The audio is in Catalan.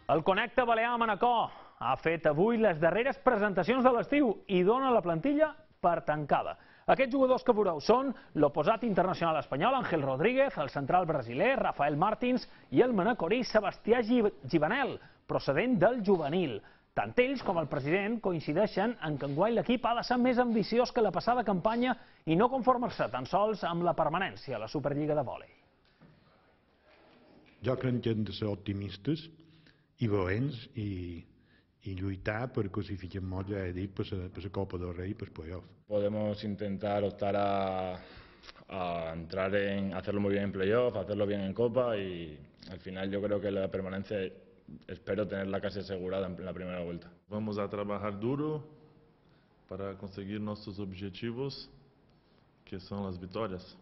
El Connecta Balear a Manacor ha fet avui les darreres presentacions de l'estiu i dona la plantilla per tancada. Aquests jugadors que veureu són l'oposat internacional espanyol Ángel Rodríguez, el central brasiler Rafael Martins i el manacorí Sebastià Givanel, procedent del juvenil. Tant ells com el president coincideixen en que enguany l'equip ha de ser més ambiciós que la passada campanya i no conformar-se tan sols amb la permanència a la Superliga de vòlei. Jo crec que hem de ser optimistes i valents i lluitar per classificar-nos, ja he dit, per la Copa del Rey y per playoff. Podemos intentar optar a entrar hacerlo muy bien en playoff, hacerlo bien en Copa y al final yo creo que la permanencia espero tenerla casi asegurada en la primera vuelta. Vamos a trabajar duro para conseguir nuestros objetivos, que son las victorias.